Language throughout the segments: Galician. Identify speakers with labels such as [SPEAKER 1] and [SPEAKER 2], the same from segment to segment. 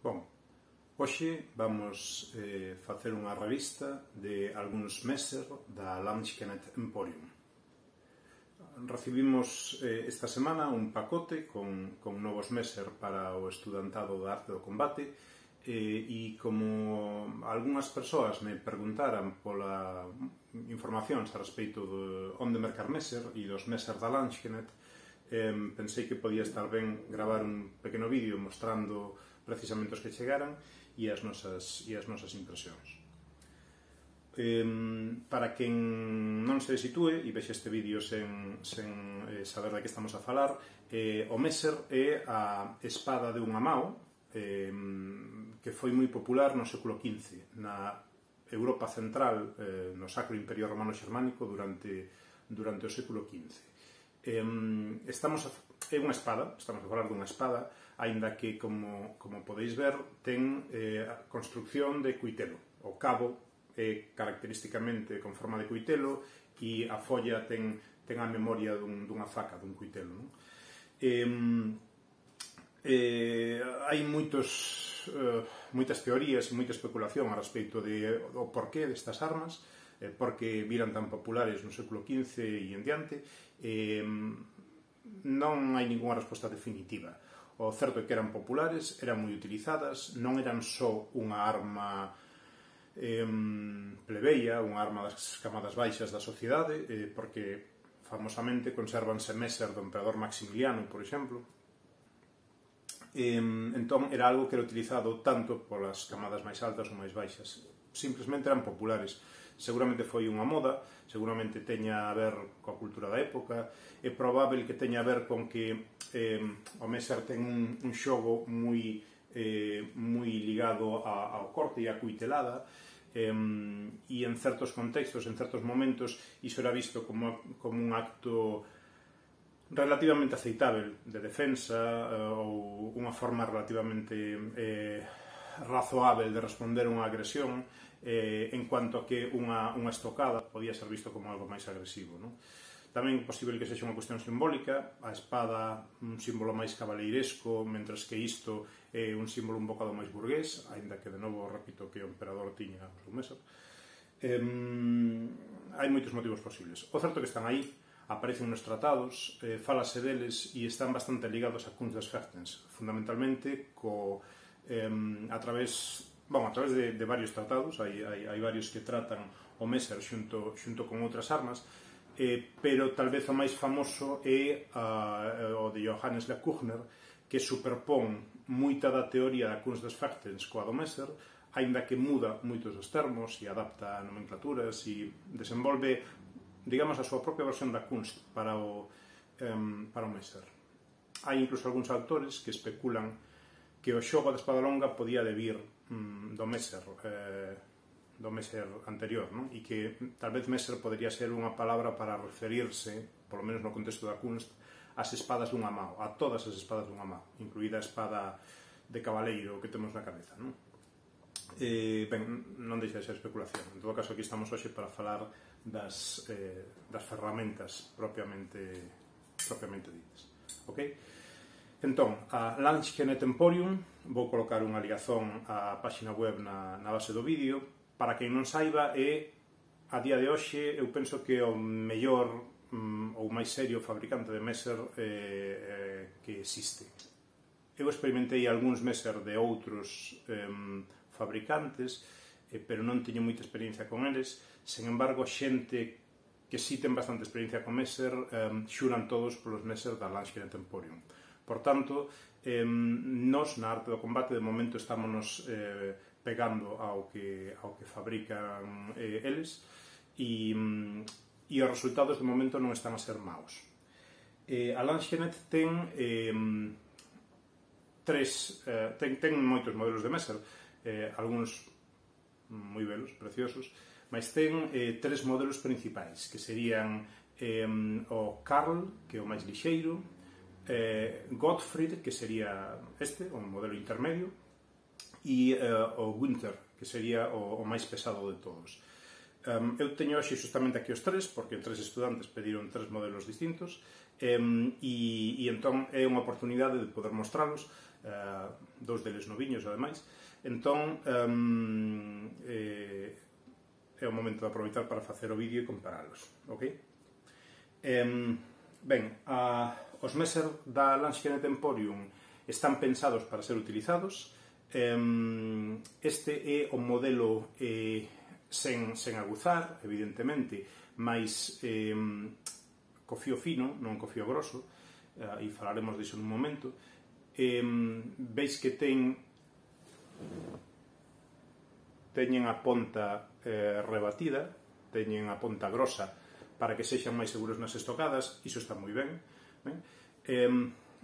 [SPEAKER 1] Bom, hoxe vamos facer unha revista de algúns Messer da Landsknecht Emporium. Recibimos esta semana un pacote con novos Messer para o estudantado da arte do combate e como algunhas persoas me preguntaran pola informacións a respeito de onde mercar Messer e dos Messer da Landsknecht, pensei que podía estar ben gravar un pequeno vídeo mostrando precisamente os que chegaran e as nosas impresións. Para quen non se sitúe e vexe este vídeo sen saber de que estamos a falar, o Messer é a espada de unha mao que foi moi popular no século XV na Europa central, no Sacro Imperio Romano Xermánico durante o século XV. É unha espada, estamos a falar dunha espada, aínda que, como podeis ver, ten a construcción de cuitelo. O cabo é característicamente con forma de cuitelo e a folla ten a memoria dunha faca, dun cuitelo. Hai moitas teorías e moita especulación a respecto do porqué destas armas, porque viran tan populares no século XV e en diante. Non hai ninguna resposta definitiva. O certo é que eran populares, eran moi utilizadas, non eran só unha arma plebeia, unha arma das camadas baixas da sociedade, porque famosamente conservanse Messer do emperador Maximiliano, por exemplo. Entón era algo que era utilizado tanto polas camadas máis altas ou máis baixas. Simplesmente eran populares. Seguramente foi unha moda, seguramente teña a ver coa cultura da época, é probável que teña a ver con que o Messer ten un xogo moi ligado ao corte e á cuitelada, e en certos contextos, en certos momentos, iso era visto como un acto relativamente aceitável de defensa ou unha forma relativamente razoável de responder a unha agresión, en cuanto a que unha estocada podía ser visto como algo máis agresivo. Tamén é posible que sexa unha cuestión simbólica, a espada un símbolo máis cabaleiresco, mentres que isto é un símbolo un bocado máis burgués, aínda que, de novo, repito que o emperador tiña o seu Messer. Hai moitos motivos posibles. O certo que están aí, aparecen nos tratados, fálase deles e están bastante ligados a Kunst des Fechtens, fundamentalmente a través de varios tratados. Hai varios que tratan o Messer xunto con outras armas, pero tal vez o máis famoso é o de Johannes Le Cugner, que superpón moita da teoría da Kunst des Fechtens coa do Messer, aínda que muda moitos dos termos e adapta nomenclaturas e desenvolve, digamos, a súa propia versión da Kunst para o Messer. Hai incluso algúns autores que especulan que o xogo da espada longa podía debir do Messer anterior, e que tal vez Messer podría ser unha palabra para referirse, polo menos no contexto da Kunst, ás espadas dunha mao, a todas as espadas dunha mao, incluída a espada de cabaleiro que temos na cabeza. Non deixa de ser especulación. En todo caso, aquí estamos hoxe para falar das ferramentas propiamente ditas. Ok? Entón, a Landsknecht Emporium, vou colocar unha ligazón á páxina web na base do vídeo. Para quen non saiba, é, a día de hoxe, eu penso que o mellor ou máis serio fabricante de Messer que existe. Eu experimentei algúns Messer de outros fabricantes, pero non teño moita experiencia con eles. Sen embargo, xente que si ten bastante experiencia con Messer xuran todos polos Messer da Landsknecht Emporium. Por tanto, nós na arte do combate de momento estámonos pegando ao que fabrican eles e os resultados de momento non están a ser maus. A Landsknecht ten moitos modelos de Messer, algúns moi belos, preciosos, mas ten tres modelos principais, que serían o Karl, que é o máis lixeiro, Gottfried, que sería o modelo intermedio, e o Günther, que sería o máis pesado de todos. Eu teño hoxe justamente aquí os tres, porque tres estudantes pediron tres modelos distintos, e entón é unha oportunidade de poder mostralos. dous deles noviños, ademais. Entón, é o momento de aproveitar para facer o vídeo e comparalos, ok? Ben, os Messer da Lansquenet Emporium están pensados para ser utilizados. Este é o modelo sen aguzar, evidentemente, máis co fío fino, non co fío grosso, e falaremos disso nun momento. Veis que teñen a ponta rebatida, teñen a ponta grosa para que sexan máis seguros nas estocadas, iso está moi ben.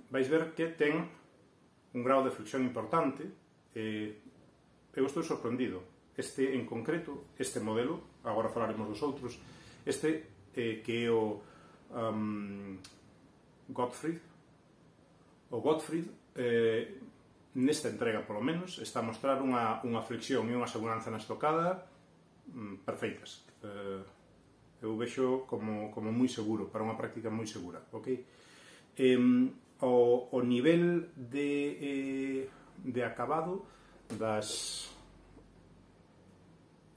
[SPEAKER 1] Vais ver que ten un grado de flexión importante. Eu estou sorprendido. Este en concreto, este modelo, agora falaremos dos outros, este que é o Gottfried, nesta entrega polo menos, está a mostrar unha flexión e unha seguranza na estocada perfeitas. Eu vexo como moi seguro, para unha práctica moi segura, ok? O nivel de acabado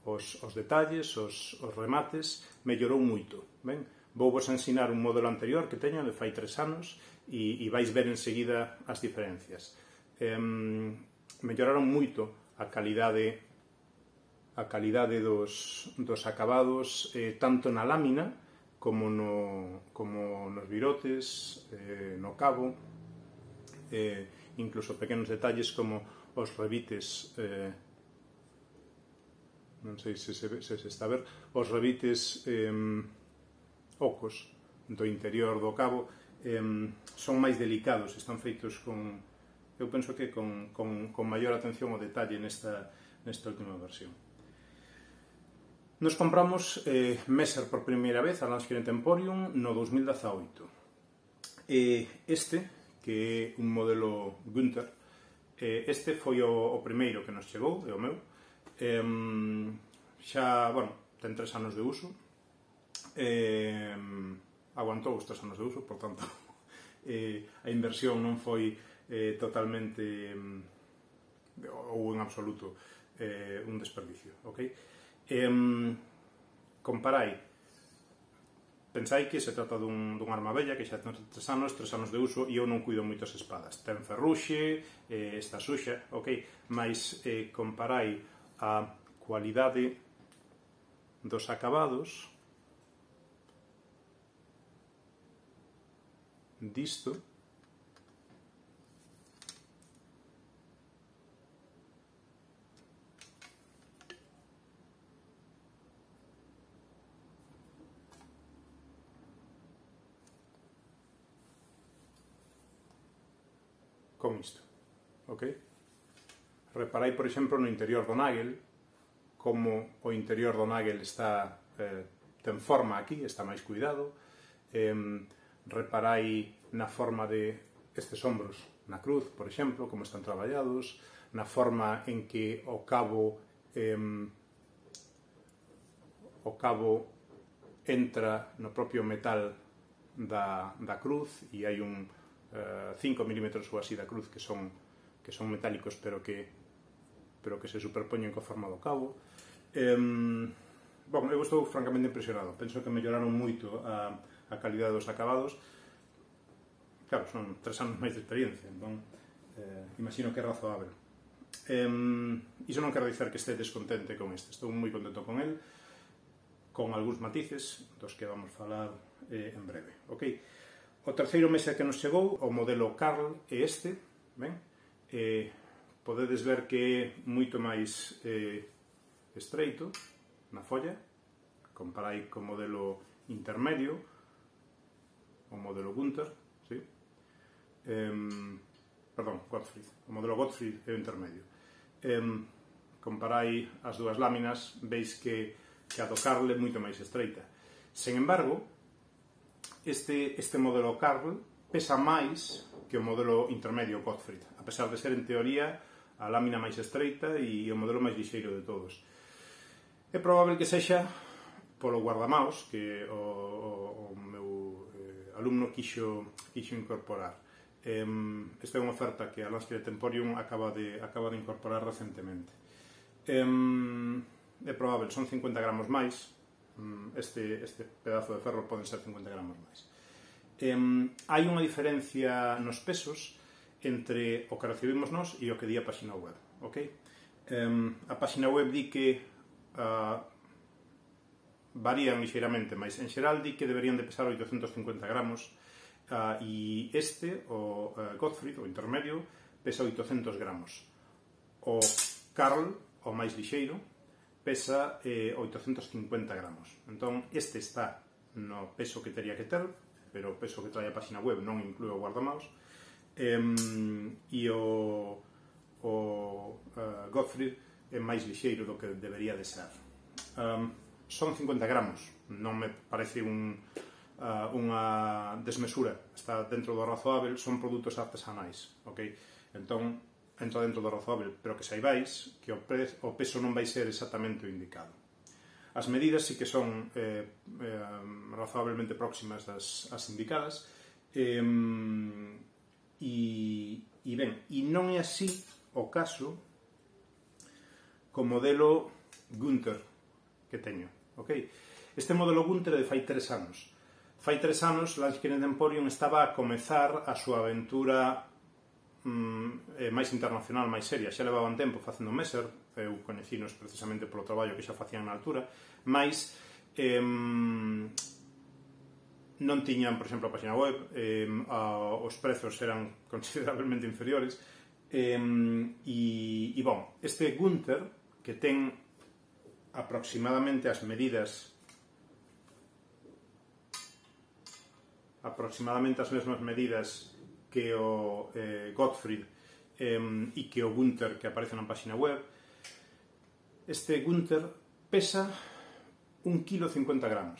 [SPEAKER 1] os detalles, os remates mellorou moito, ben? Vou vos ensinar un modelo anterior que teño de fai 3 anos e vais ver enseguida as diferencias. Melloraron moito a calidade dos acabados, tanto na lámina como nos virotes, no cabo, incluso pequenos detalles como os revites, non sei se se está a ver, os revites ocos do interior do cabo son máis delicados, están feitos eu penso que con maior atención ao detalle nesta última versión. Nos compramos Messer por primeira vez a Lansquenet Emporium no 2018. Este, que é un modelo Günther, este foi o primeiro que nos chegou, é o meu. Xa, bueno, ten 3 anos de uso, aguantou os 3 anos de uso, por tanto a inversión non foi totalmente ou en absoluto un desperdicio, ok? Comparai, pensai que se trata dun arma bella que xa ten 3 anos de uso e eu non cuido moito as espadas, ten ferruxe, está suxa, ok? Mais comparai a cualidade dos acabados disto con isto, ok? Reparai, por exemplo, no interior do nagel, como o interior do nagel está ten forma aquí, está máis cuidado. Reparai na forma de estes ombros na cruz, por exemplo, como están traballados, na forma en que o cabo entra no propio metal da cruz e hai un 5 milímetros ou así da cruz que son metálicos pero que se superpoñen coa forma do cabo. Bom, eu estou francamente impresionado, penso que melloraron moito a calidade dos acabados. Claro, son 3 anos máis de experiencia, entón imagino que é razoável. Iso non quero dicer que este descontente con este, estou moi contento con el, con algúns matices dos que vamos falar en breve, ok? O terceiro Messer que nos chegou, o modelo Karl, é este, ben? Podedes ver que é moito máis estreito na folla, comparai co modelo intermedio, o modelo Günther, sí? Perdón, Gottfried, o modelo Gottfried é o intermedio. Comparai as dúas láminas, veis que a do Karl é moito máis estreita. Sen embargo, este modelo Karl pesa máis que o modelo intermedio Gottfried, a pesar de ser en teoría a lámina máis estreita e o modelo máis lixeiro de todos. É probable que sexa polo guardamaos que o meu alumno quixo incorporar. Esta é unha oferta que a Lansquenet Emporium acaba de incorporar recentemente. É probable, son 50 gramos máis, este pedazo de ferro poden ser 50 gramos máis. Hai unha diferencia nos pesos entre o que recibimos nós e o que di a página web, ok? A página web di que varían lixeiramente, mas en xeral di que deberían de pesar 850 gramos e o Gottfried, o intermedio, pesa 800 gramos. O Karl, o máis lixeiro, pesa 850 gramos. Entón, este está no peso que teria que ter, pero o peso que trae a página web non inclúe o guardamaos, e o Gottfried é máis lixeiro do que debería de ser. Son 50 gramos, non me parece unha desmesura, está dentro do razoável, son produtos artesanais, ok? Entón, entra dentro do razoável, pero que saibais que o peso non vai ser exactamente o indicado. As medidas sí que son razoablemente próximas ás indicadas, e non é así o caso co modelo Günther que teño, ok? Este modelo Günther é de fai 3 anos. Fai 3 anos, Lansquenet Emporium estaba a comezar a súa aventura máis internacional, máis seria. Xa levaban tempo facendo Messer, eu coñecinos precisamente polo traballo que xa facían na altura, mas non tiñan, por exemplo, a página web, os prezos eran considerablemente inferiores, e bon, este Günther, que ten aproximadamente as mesmas medidas que o Gottfried e que o Günther que aparece na página web, este Günther pesa 1,50 kg,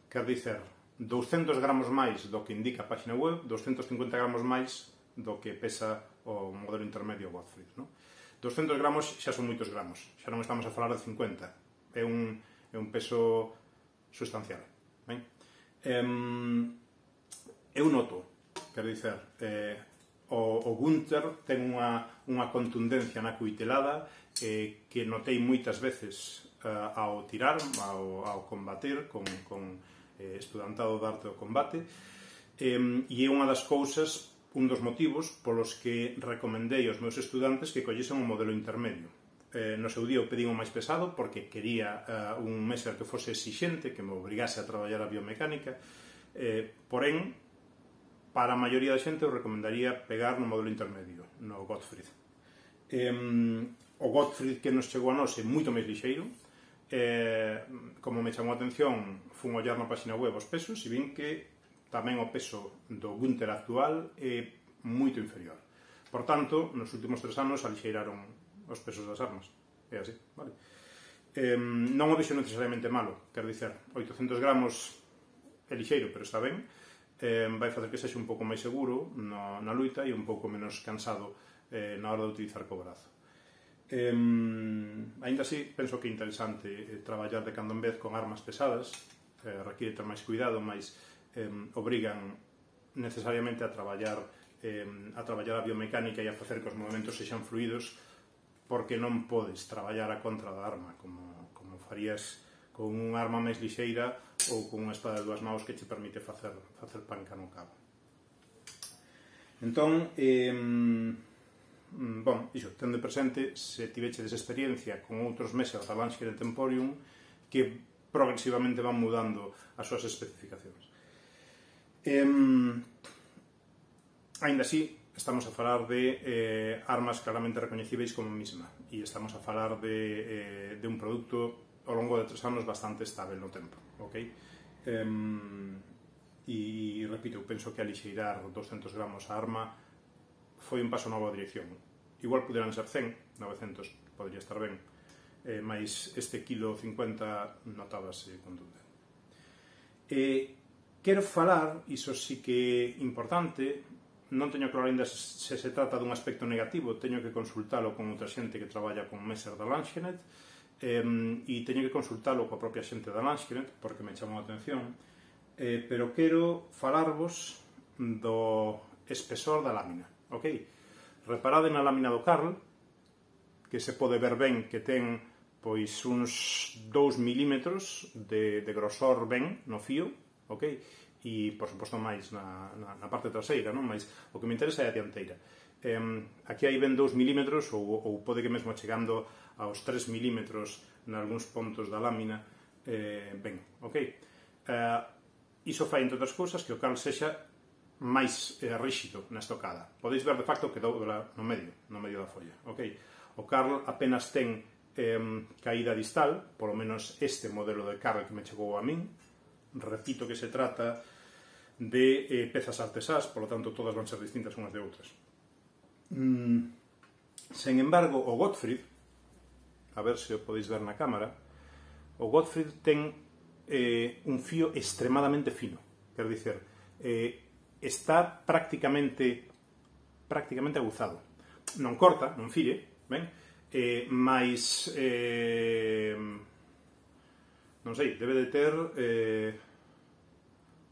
[SPEAKER 1] quer dizer, 200 gramos máis do que indica a página web, 250 gramos máis do que pesa o modelo intermedio Gottfried, non? 200 gramos xa son moitos gramos, xa non estamos a falar de 50, é un peso sustancial, ben? Eu noto, quer dizer, o Günther ten unha contundencia na cuitelada que notei moitas veces ao tirar, ao combater con estudantado de arte do combate, e é unha das cousas, un dos motivos polos que recomendei aos meus estudantes que collesen un modelo intermedio. No seu día eu pedín o máis pesado porque quería un Messer que fose exixente, que me obrigase a traballar a biomecánica, porén, para a maioría da xente eu recomendaría pegar no modelo intermedio, no Gottfried. O Gottfried que nos chegou a nós é moito máis lixeiro. Como me chamou a atención, fun ollar na página web os pesos e vin que tamén o peso do Günther actual é moito inferior. Por tanto, nos últimos 3 anos alixeiraron os pesos das armas. É así, vale? Non o vexo necesariamente malo, quer dizer, 800 gramos é lixeiro, pero está ben, vai facer que sexa un pouco máis seguro na luita e un pouco menos cansado na hora de utilizar co brazo. Ainda así, penso que é interesante traballar de cando en vez con armas pesadas, requiere ter máis cuidado, mas obrigan necesariamente a traballar a biomecánica e a facer que os movimentos sexan fluidos, porque non podes traballar a contra da arma como farías con unha arma máis lixeira ou con unha espada de 2 maus que che permite facer panca no cabo. Entón, iso, tende presente, se tivechedes experiencia con outros Messer da Lansquenet Emporium, que progresivamente van mudando as súas especificacións. Ainda así, estamos a falar de armas claramente recoñecíveis como mesma, e estamos a falar de un produto ao longo de 3 anos bastante estable no tempo, ok? E repito, eu penso que alixeirar 200 gramos a arma foi un paso na boa dirección. Igual puderan ser 100, 900 podría estar ben, mas este kilo 50 notábase contundente. Quero falar, iso sí que é importante, non teño claro ainda se trata dun aspecto negativo, teño que consultalo con outra xente que traballa con Messer da Lansquenet, e teño que consultalo coa propia xente da Lansquenet, porque me chamou a atención, pero quero falarvos do espesor da lámina, ok? Reparade na lámina do Carl, que se pode ver ben que ten pois uns 2 milímetros de grosor ben no fío, ok? E, por suposto, máis na parte traseira, non? Mas o que me interesa é a dianteira. Aquí hai ben 2 milímetros, ou pode que mesmo chegando aos 3 milímetros nalgúns pontos da lámina, ben, ok? Iso fai, entre outras cousas, que o Carl sexa máis rígido na estocada. Podeis ver, de facto, que dobra no medio da folla, ok? O Carl apenas ten caída distal, polo menos este modelo de Carl que me chegou a min. Repito que se trata de pezas artesás, polo tanto todas van ser distintas unhas de outras. Sen embargo, o Gottfried, a ver se o podéis ver na cámara, o Gottfried ten un fío extremadamente fino, quer dicer, está prácticamente aguzado. Non corta, non fire, ben? Mais non sei, debe de ter 1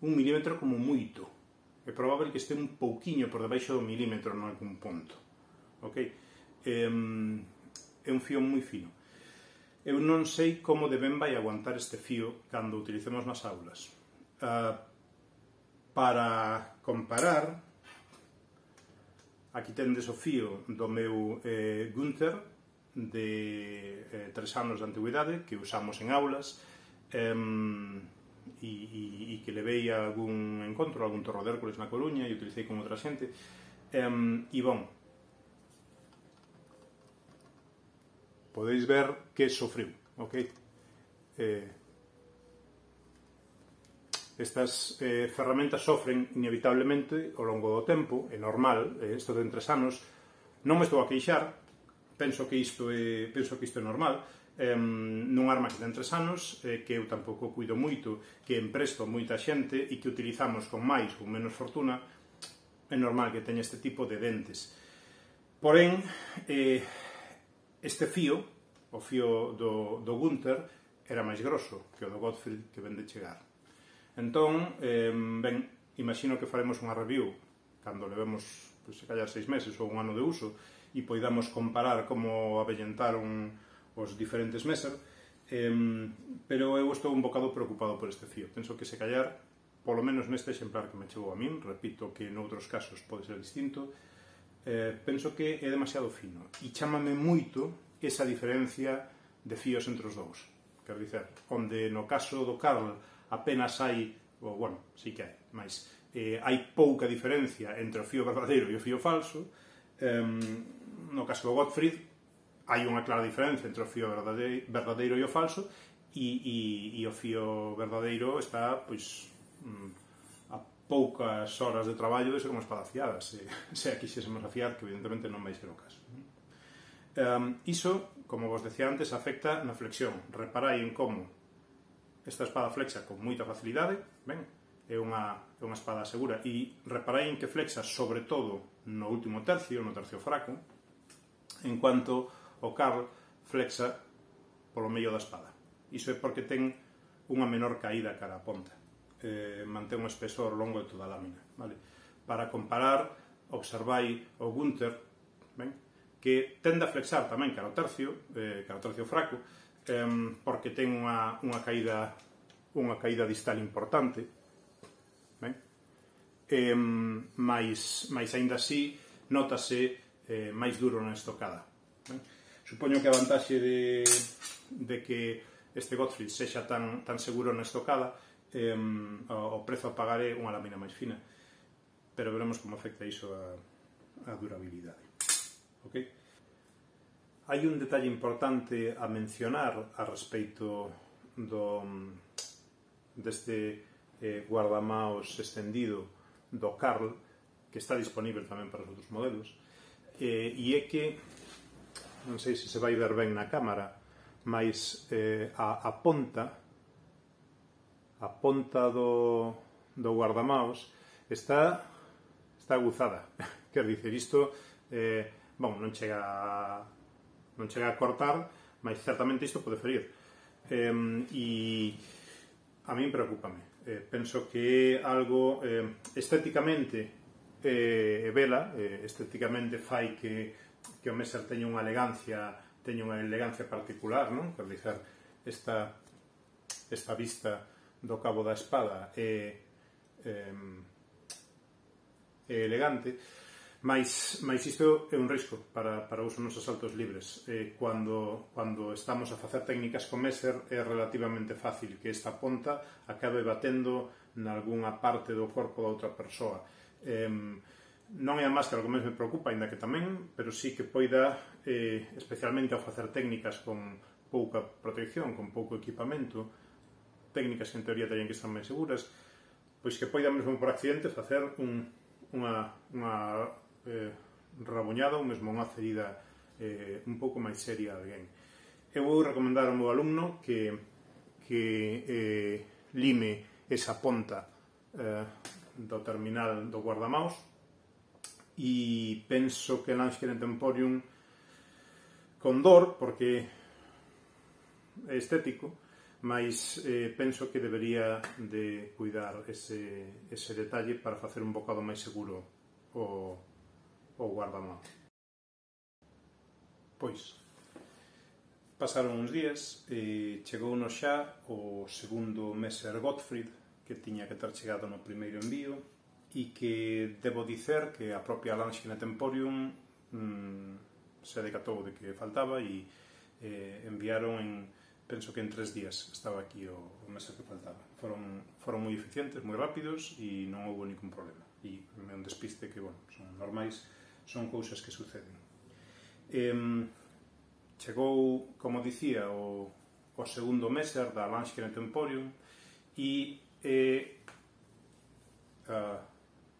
[SPEAKER 1] milímetro como moito. É probable que este un pouquiño por debaixo do milímetro en algún ponto, ok? É un fío moi fino. Eu non sei como de ben vai aguantar este fío cando utilicemos nas aulas. Para comparar, aquí tendes o fío do meu Günther de 3 anos de antigüidade que usamos en aulas e que levei a algún encontro, algún torro de Hércules na Coruña e utilicei con outra xente e bon, podeis ver que sofriu, ok? Estas ferramentas sofren inevitablemente ao longo do tempo, é normal, isto de 3 anos, non me estou a queixar, penso que isto é normal, nun arma que ten 3 anos, que eu tampouco cuido moito, que empresto moita xente e que utilizamos con máis ou menos fortuna, é normal que teña este tipo de dentes. Porén, este fío, o fío do Günther, era máis grosso que o do Gottfried que ven de chegar. Entón, ben, imagino que faremos unha review cando levemos, se callar 6 meses ou un ano de uso e poidamos comparar como avellentaron os diferentes Messer, pero eu estou un bocado preocupado por este fío. Penso que se callar, polo menos neste exemplar que me chegou a min, repito que noutros casos pode ser distinto, penso que é demasiado fino e chámame moito esa diferencia de fíos entre os dous. Quero dicer, onde no caso do Carl apenas hai, bueno, sí que hai, mas hai pouca diferencia entre o fío verdadeiro e o fío falso, no caso do Gottfried hai unha clara diferencia entre o fío verdadeiro e o falso e o fío verdadeiro está, pois, a poucas horas de traballo de ser unha espada afiada, se a quixésemos afiar, que evidentemente non vai ser o caso. Iso, como vos decía antes, afecta na flexión. Reparai en como esta espada flexa con moita facilidade, ben, é unha espada segura, e reparai en que flexa sobre todo no último tercio, no tercio fraco, en cuanto o Carl flexa polo medio da espada. Iso é porque ten unha menor caída cara a ponta. Mantén un espesor ao longo de toda a lámina. Vale? Para comparar, observai o Günther, ben, que tende a flexar tamén cara ao tercio fraco, porque ten unha caída distal importante, ben? Mais aínda así notase máis duro na estocada. Ben? Supoño que a vantaxe de que este Gottfried sexa tan seguro na estocada, o prezo a pagar é unha lámina máis fina, pero veremos como afecta iso a durabilidade. Okay? Hai un detalle importante a mencionar a respeito deste guardamaos extendido do Carl, que está disponível tamén para os outros modelos, e é que, non sei se se vai ver ben na cámara, mas a ponta do guardamaos está aguzada. Quer dizer, isto non chega a cortar, mas certamente isto pode ferir. E a min preocúpame. Penso que é algo estéticamente e vela, estéticamente fai que o Messer teña unha elegancia particular, non? Quer dizer, esta vista do cabo da espada é elegante, mas isto é un risco para uso nos asaltos libres. Cando estamos a facer técnicas con Messer é relativamente fácil que esta ponta acabe batendo nalgúna parte do corpo da outra persoa. Non é a máscara que máis me preocupa, ainda que tamén, pero sí que poida, especialmente ao facer técnicas con pouca protección, con pouco equipamento, técnicas que en teoría teñen que estar máis seguras, pois que poida mesmo por accidente facer unha rabuñada ou mesmo unha ferida un pouco máis seria a alguén. Eu vou recomendar ao meu alumno que lime esa ponta do terminal do guardamaus, e penso que Lansquenet Emporium, con dor, porque é estético, mas penso que debería de cuidar ese detalle para facer un bocado máis seguro o guardamaus. Pois, pasaron uns días e chegounos xa o segundo Messer Gottfried, que tiña que ter chegado no primeiro envío, e que debo dicer que a propia Lansquenet Emporium se decatou de que faltaba e enviaron penso que en 3 días estaba aquí o Messer que faltaba. Foron moi eficientes, moi rápidos e non houve ningún problema. E é un despiste que, bueno, son normais, son cousas que suceden. Chegou, como dicía, o segundo Messer da Lansquenet Emporium e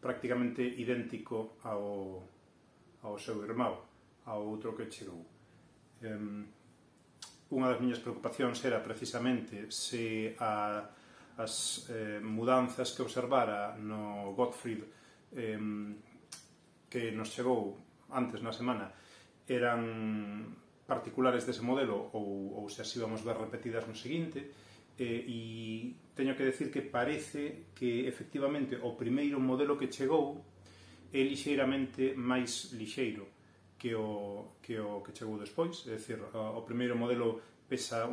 [SPEAKER 1] prácticamente idéntico ao seu irmão, ao outro que chegou. Unha das miñas preocupacións era precisamente se as mudanzas que observara no Gottfried que nos chegou antes na semana eran particulares dese modelo ou se as íbamos ver repetidas no seguinte. E teño que decir que parece que efectivamente o primeiro modelo que chegou é lixeiramente máis lixeiro que o que chegou despois, é dicir, o primeiro modelo pesa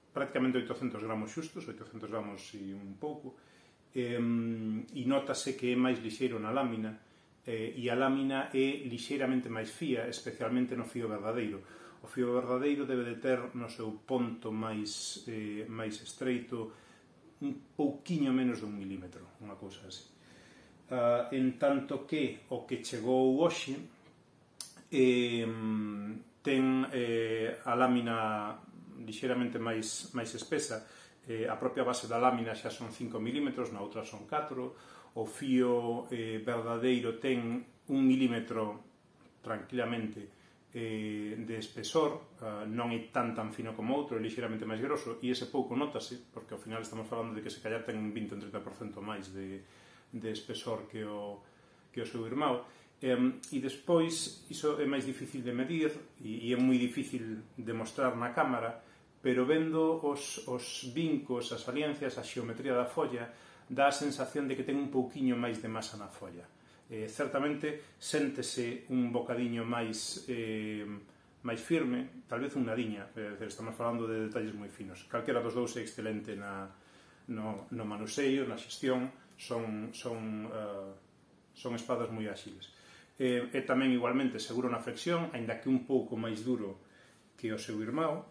[SPEAKER 1] prácticamente 800 gramos xustos, 800 gramos e un pouco, e notase que é máis lixeiro na lámina, e a lámina é lixeiramente máis fía, especialmente no fío verdadeiro. O fío verdadeiro debe de ter no seu ponto máis estreito un pouquiño menos de 1 milímetro, unha cousa así. En tanto que o que chegou hoxe ten a lámina lixeiramente máis espesa, a propia base da lámina xa son 5 milímetros, na outra son 4, o fío verdadeiro ten 1 milímetro tranquilamente de espesor, non é tan fino como outro, é lixeiramente máis grosso, e ese pouco notase, porque ao final estamos falando de que se callar ten un 20 ou 30% máis de espesor que o seu irmão. E despois, iso é máis difícil de medir e é moi difícil de mostrar na cámara, pero vendo os vincos, as saliencias, a xeometría da folla, dá a sensación de que ten un pouquiño máis de masa na folla. Certamente séntese un bocadiño máis firme, tal vez un nadiña, estamos falando de detalles moi finos. Calquera dos dous é excelente no manuseio, na xestión, son espadas moi áxiles. É tamén igualmente seguro na flexión, aínda que un pouco máis duro que o seu irmão.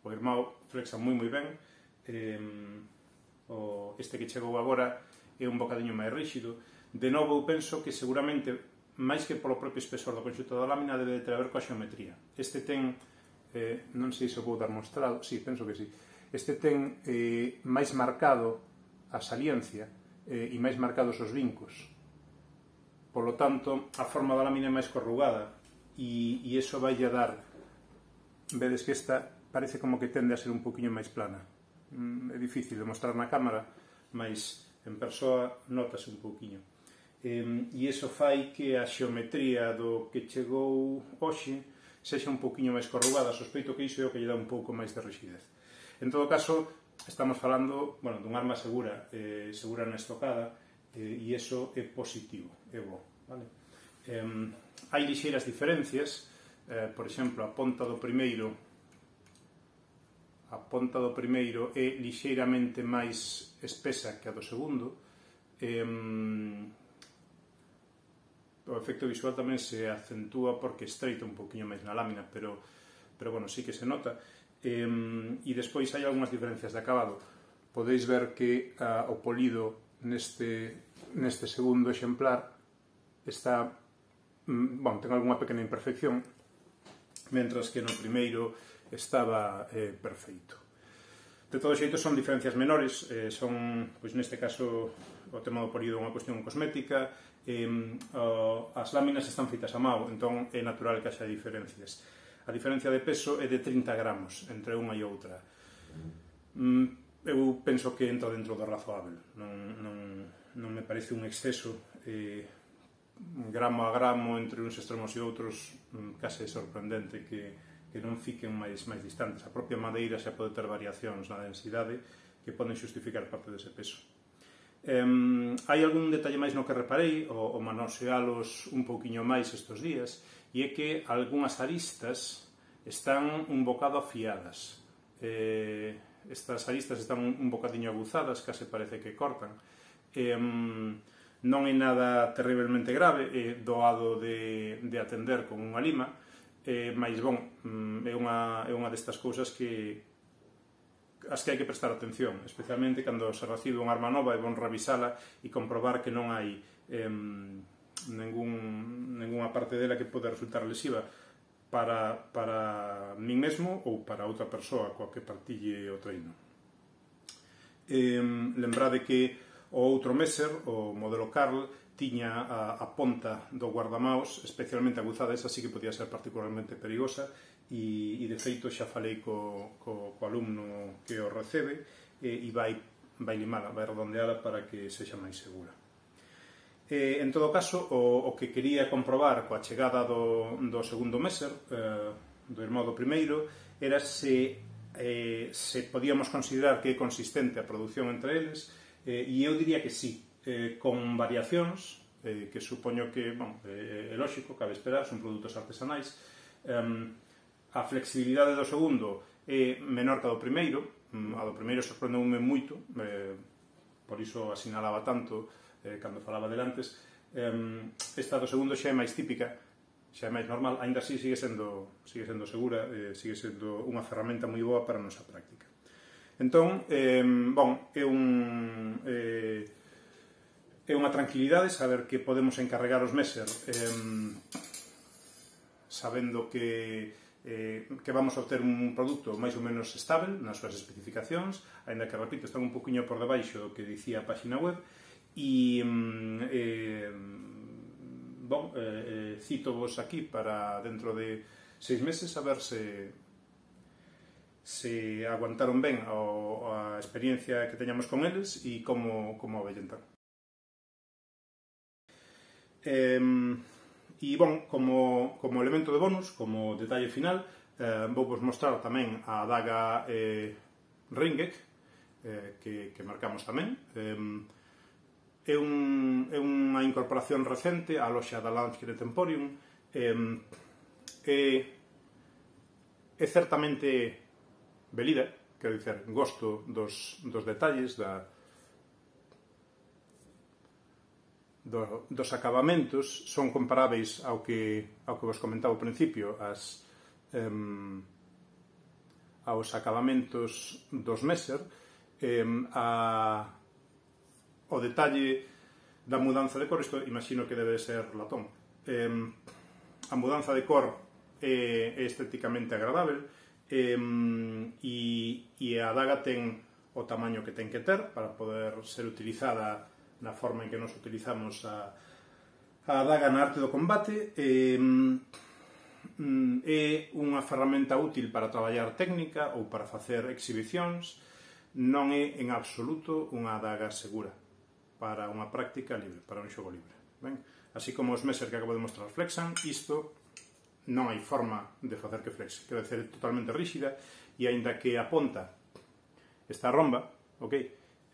[SPEAKER 1] O irmão flexa moi ben, este que chegou agora é un bocadiño máis ríxido. De novo, eu penso que seguramente, máis que polo propio espesor do conxunto da lámina, debe de ter a ver coa xeometría. Este ten, non sei se o vou dar mostrado, sí, penso que sí, este ten máis marcado a saliencia e máis marcados os vincos. Polo tanto, a forma da lámina é máis corrugada e iso vai a dar, vedes que esta parece como que tende a ser un poquinho máis plana. É difícil de mostrar na cámara, mas en persoa notase un pouquiño. E iso fai que a xeometría do que chegou hoxe sexa un pouquiño máis corrugada. Sospeito que iso é o que lle dá un pouco máis de rixidez. En todo caso, estamos falando, bueno, dun arma segura na estocada, e iso é positivo, é bo, vale? Hai lixeiras diferencias, por exemplo, a ponta do primeiro é lixeiramente máis espesa que a do segundo. O efecto visual tamén se acentúa porque estreita un poquinho máis na lámina, pero bueno, sí que se nota. E despois hai algunhas diferencias de acabado. Podeis ver que o polido neste segundo exemplar está, ten algunha pequena imperfección, mentras que no primeiro estaba perfeito. De todo xeito son diferencias menores, son, pois neste caso, o tema do polido é unha cuestión cosmética, as láminas están feitas a mao, entón é natural que haxa diferencias. A diferencia de peso é de 30 gramos entre unha e outra. Eu penso que entra dentro do razoável, non me parece un exceso, gramo a gramo entre uns extremos e outros, case sorprendente que non fiquen máis distantes. A propia madeira xa pode ter variacións na densidade que poden xustificar parte dese peso. Hai algún detalle máis no que reparei, o manosealos un pouquiño máis estes días, e é que algunhas aristas están un bocado afiadas. Estas aristas están un bocadiño aguzadas, case parece que cortan. Non é nada terriblemente grave, é doado de atender con unha lima, mas, é unha destas cousas as que hai que prestar atención, especialmente cando se recibe unha arma nova, é bon revisala e comprobar que non hai ningunha parte dela que pode resultar lesiva para min mesmo ou para outra persoa coa que partille o treino. Lembrade que o outro Messer, o modelo Karl, tiña a ponta do guardamaos especialmente aguzada, esa sí que podía ser particularmente perigosa, e de feito xa falei co alumno que o recebe e vai limala, vai redondeala para que sexa máis segura. En todo caso, o que quería comprobar coa chegada do segundo Messer, do irmão do primeiro, era se podíamos considerar que é consistente a produción entre eles, e eu diría que sí, con variacións, que supoño que, é lógico, cabe esperar, son produtos artesanais. A flexibilidade do segundo é menor que a do primeiro, a do primeiro sorprendeume moito, por iso asinalaba tanto cando falaba delantes. Esta do segundo xa é máis típica, xa é máis normal, aínda así sigue sendo segura, sigue sendo unha ferramenta moi boa para a nosa práctica. Entón, é unha tranquilidade saber que podemos encarregar os Messer sabendo que vamos a obter un produto máis ou menos estável nas súas especificacións, aínda que, repito, están un poquinho por debaixo do que dicía a página web, e cito vos aquí para dentro de 6 meses a ver se aguantaron ben a experiencia que teñamos con eles e como avellentan. E, como elemento de bonus, como detalle final, vou vos mostrar tamén a adaga Ringek, que marcamos tamén. É unha incorporación recente á loxa da Landsknet Emporium. É certamente velida, quero dicer, gosto dos detalles, dos acabamentos, son comparáveis ao que vos comentaba ao principio, aos acabamentos dos Messer. O detalle da mudanza de cor, isto imagino que debe ser latón. A mudanza de cor é estéticamente agradável, e a adaga ten o tamaño que ten que ter para poder ser utilizada na forma en que nos utilizamos a adaga na arte do combate. É unha ferramenta útil para traballar técnica ou para facer exhibicións. Non é en absoluto unha adaga segura para unha práctica libre, para un xogo libre. Así como os Messer que acabo de mostrar flexan, isto non hai forma de facer que flexe, quero dizer, é totalmente rígida, e aínda que a ponta está romba,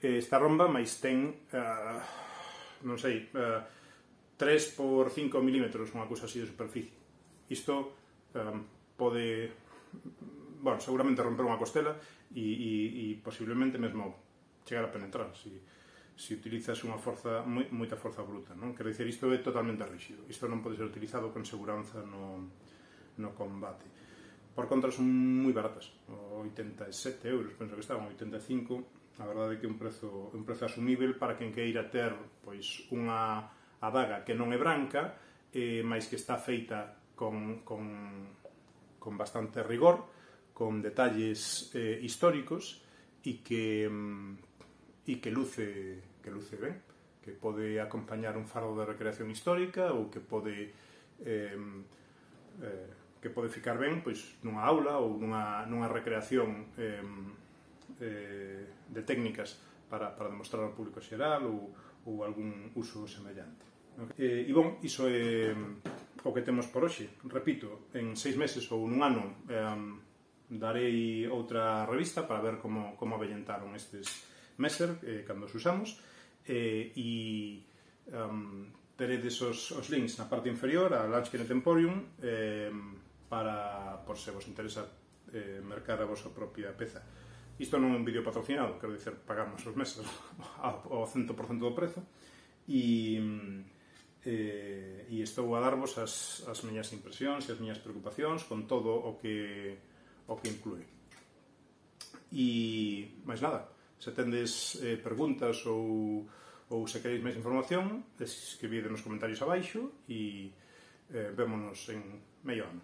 [SPEAKER 1] está romba, mas ten non sei, 3 por 5 milímetros, unha cousa así de superficie. Isto pode, bueno, seguramente romper unha costela e posiblemente mesmo chegar a penetrar se utilizas unha forza, moita forza bruta, non? Quero dicir, isto é totalmente rígido. Isto non pode ser utilizado con seguranza no combate. Por contra, son moi baratas, 87 euros, penso que estaban, 85. A verdade é que é un prezo asumível para quen queira ter pois unha adaga que non é branca, mais que está feita con bastante rigor, con detalles históricos e que luce ben, que pode acompañar un fardo de recreación histórica ou que pode ficar ben pois nunha aula ou nunha recreación de técnicas para demostrar ao público xeral ou algún uso semellante. E bon, iso é o que temos por hoxe. Repito, en 6 meses ou nun ano darei outra revista para ver como avellentaron estes Messer cando os usamos, e teredes os links na parte inferior a Launchkey Emporium por se vos interesa mercar a vosa propia peza. Isto non é un vídeo patrocinado, quero dicer, pagamos os Messer ao 100% do prezo, e estou a darvos as miñas impresións e as miñas preocupacións con todo o que inclúe. E máis nada, se tendes preguntas ou se queréis máis información, escribide nos comentarios abaixo e vémonos en medio ano.